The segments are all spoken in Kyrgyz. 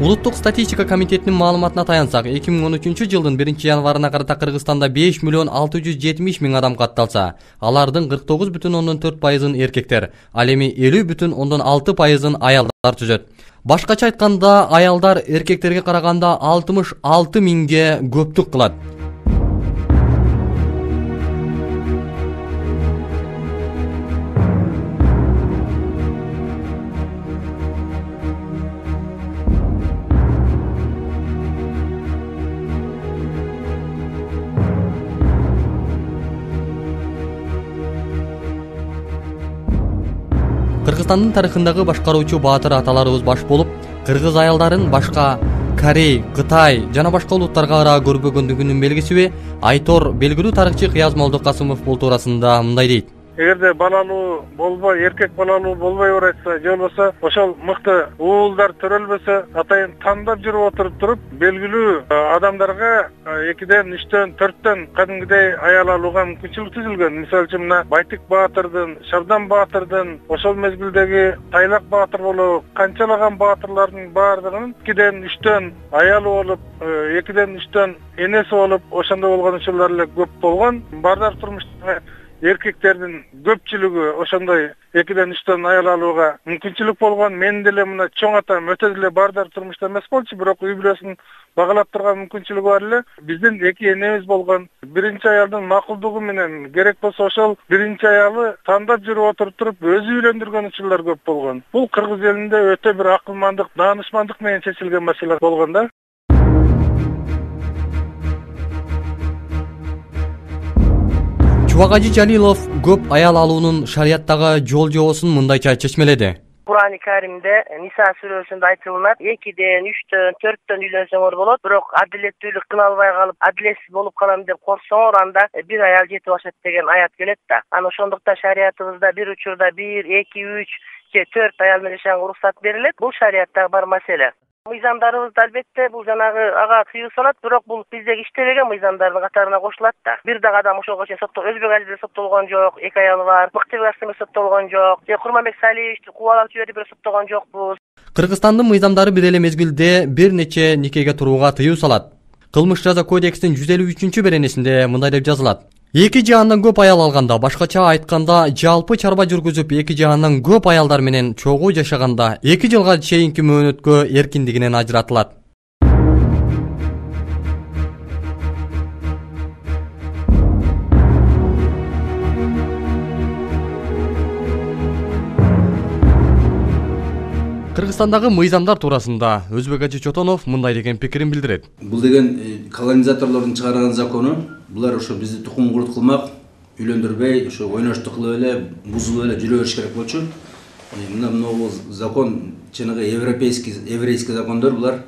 Улуттук статистика комитетинин маалыматына таянсак, 2013-жылдын 1-январына карата Кыргызстанда 5 миллион 670 миң адам катталса, алардын 49,4% эркектер, ал эми 50,6% аялдар түзөт. Башкача айтканда, аялдар эркектерге караганда 66 миңге көптүк кылат. Кыргызстандын тарыхындагы башкаруучу баатыр аталарыбыз баш болуп, кыргыз аялдарын башка Корей, Кытай жана башка улуттарга ыраа көрбөгөндүгүнүн белгисиби Айтор белгилүү тарыхчы Кыяз Молдокасымов бул туурасында мындай дейт. Эгерде балалуу болбой, эркек балалуу болбой баратса, же болбосо ошол мыкты уулдар төрөлбөсө, атайын тандап жүрүп туруп, белгилүү адамдарга 2ден 3дөн 4дөн кадимгидей аял алууга мүмкүнчүлүк түзүлгөн. Мисалы үчүн мына Байтык баатырдын, Шабдан баатырдын, ошол мезгилдеги Тайлак баатыр болуп, канчалаган баатырлардын баардыгынын 2ден 3дөн аялы болуп, 2ден 3дөн энеси болуп, ошондой болгон учурлар эле көп болгон. Баардык турмушта эркектердин көпчүлүгү ошондой 2ден 3дөн аял алууга мүмкүнчүлүк болгон. Мен деле мына чоң атам өтө деле баардык турмушта эмес болчу, бирок үй бүлөсүн багалап турган мүмкүнчүлүгү бар эле. Биздин 2 энебиз болгон. Биринчи аялдын макулдугу менен керек болсо ошол биринчи аялы тандап жүрүп туруп өзү үйлөндүргөн учурлар көп болгон. Бул кыргыз элинде өтө бир акылмандык, даанышмандык менен чечилген маселе болгон да. Чубакажы Жалилов көп аял алуунун шарияттагы жол жобосун мындайча чечмеледи. Кур'ан-ы Каримде Ниса сүрөсүндө айтылат, 2ден 3дөн 4дөн үйлөнсөңөр болот, бирок адилеттүүлүк кыла албай калып, адилетсиз болуп калам деп корксоңор, анда бир аял жетип ашат деген аят келет да. Аны ошондуктан шариятыбызда бир учурда 1, 2, 3 же 4 аял менен жашаганга уруксат берилет. Бул шарияттагы бар маселе. Мыйзамдарыбызда албетте бул жанагы ага тыюу салат, бирок бул биздеги иштебеген мыйзамдардын катарына кошулат да. Бир дагы адам ошого чейин Өзбек Азиздер соттолгон жок, 2 аялы бар. Мыктыбек Асымов соттолгон жок. Же Курманбек Салиевичти кубалап жиберип соттолгон жокпуз. Кыргызстандын мыйзамдары бир эле мезгилде бир нече никеге турууга тыюу салат. Кылмыш жаза кодекстин 153-беренесинде мындай деп жазылат: 2 же андан көп аял алганда, башкача айтканда, жалпы чарба жүргүзүп 2 же андан көп аялдар менен чогуу жашаганда 2 жылга чейинки мөөнөткө эркиндигинен ажыратылат. Кыргызстандагы мыйзамдар туурасында Өзбекажы Чотонов мындай деген пикирин билдирет. Бул деген колонизаторлордун чыгарган закону. Булар ошо бизди тукум курут кылмак, үйлөндүрбөй, ошо ойноштук кылып эле, бузуп эле жүрө бериш керек болчу. Мына закон чыныгы еврейский закондор булар.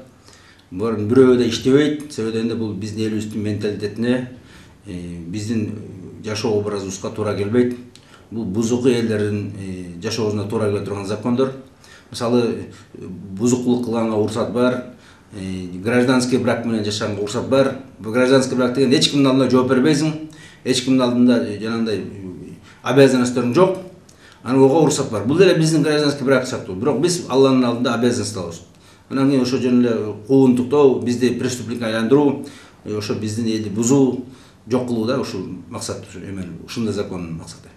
Булардын бирөө да иштебейт. Себеби дегенде бул биздин элибиздин менталитетине, биздин жашоо образыбызга туура келбейт. Бул бузуку элдердин жашоосуна туура келе турган закондор. Мисалы, бузукулук кылганга уруксат бар, гражданский брак менен жашаганга уруксат бар. Бул гражданский брак деген эч кимдин алдында жооп бербейсиң, эч кимдин алдында жанагындай обязанностторуң жок. Ага уруксат бар. Бул деле биздин гражданский брак сыяктуу, бирок биз Алланын алдында обязанностьтабыз. Анан кийин ошо жөн эле куугунтуктоо, бизди преступникке айландыруу, ошо биздин элди бузуу, жок кылуу да ушул максат, ушундай закондун максаты.